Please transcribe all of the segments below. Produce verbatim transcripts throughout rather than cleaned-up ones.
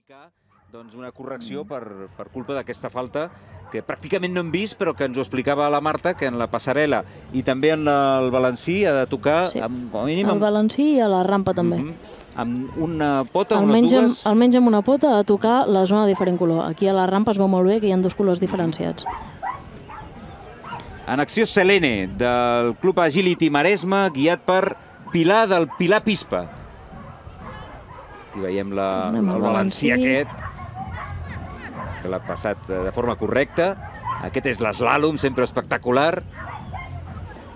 indicar una correcció per culpa d'aquesta falta que pràcticament no hem vist, però que ens ho explicava la Marta, que en la passarel·la i també en el balancí ha de tocar com a mínim... Al balancí i a la rampa també. Amb una pota o unes dues... Almenys amb una pota a tocar la zona de diferent color. Aquí a la rampa es veu molt bé que hi ha dos colors diferenciats. En acció Selene, del Club Agility Maresme, guiat per Pilar del Pilar Pispa. Aquí veiem el balancí aquest, que l'ha passat de forma correcta. Aquest és l'eslàlom, sempre espectacular.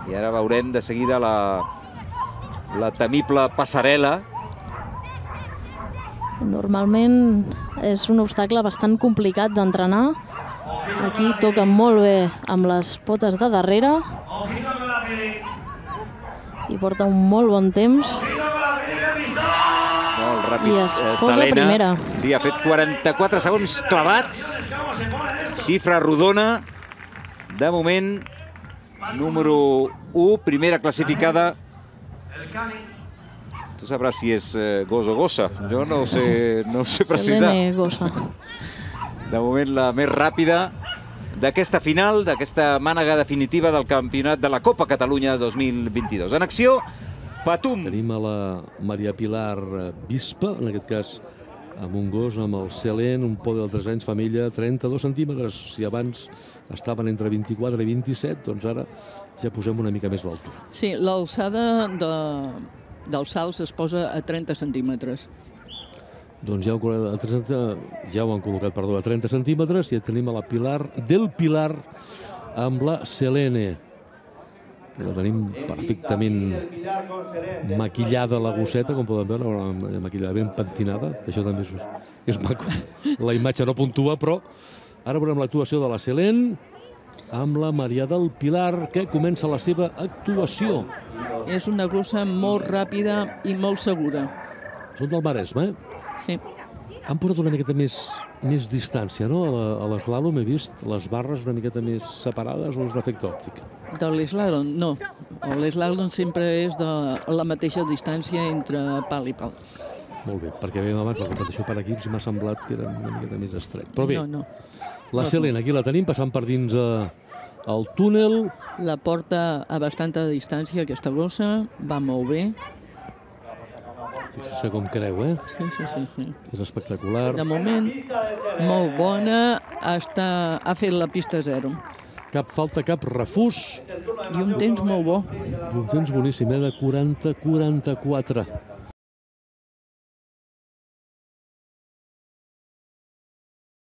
I ara veurem de seguida la temible passarel·la. Normalment és un obstacle bastant complicat d'entrenar. Aquí toca molt bé amb les potes de darrere i porta un molt bon temps. Molt ràpid. I es posa primera. Sí, ha fet quaranta-quatre segons clavats. Xifra rodona. De moment, número u, primera classificada. Tu sabràs si és gos o gossa. Jo no ho sé precisar. Selene gossa. De moment, la més ràpida d'aquesta final, d'aquesta mànega definitiva del campionat de la Copa Catalunya dos mil vint-i-dos. En acció, Patum. Tenim a la Maria Pilar Bispa, en aquest cas amb un gos, amb el Selene, un podi de tres anys, família, trenta-dos centímetres. Si abans estaven entre vint-i-quatre i vint-i-set, doncs ara ja posem una mica més l'altura. Sí, l'alçada dels salts es posa a trenta centímetres. Doncs ja ho han col·locat, perdó, a trenta centímetres, i ja tenim a la Pilar del Pilar amb la Selene. La tenim perfectament maquillada, la gosseta, com poden veure, maquillada ben pentinada. Això també és maco. La imatge no puntua, però ara veurem l'actuació de la Selene amb la Maria del Pilar, que comença la seva actuació. És una gossa molt ràpida i molt segura. Són del Maresme, eh? Sí. Han portat una miqueta més distància, no? A l'eslàlom he vist les barres una miqueta més separades, o és un efecte òptic? De l'eslàlom, no. L'eslàlom sempre és de la mateixa distància entre pal i pal. Molt bé, perquè veiem abans la competició per equips i m'ha semblat que era una miqueta més estret. Però bé, no, no. La Selene, aquí la tenim, passant per dins el túnel. La porta a bastanta distància, aquesta gossa, va molt bé. Fixa't com creu, eh? Sí, sí, sí. És espectacular. De moment, molt bona. Ha fet la pista zero. Cap falta, cap refús. I un temps molt bo. I un temps boníssim, eh? De quaranta a quaranta-quatre.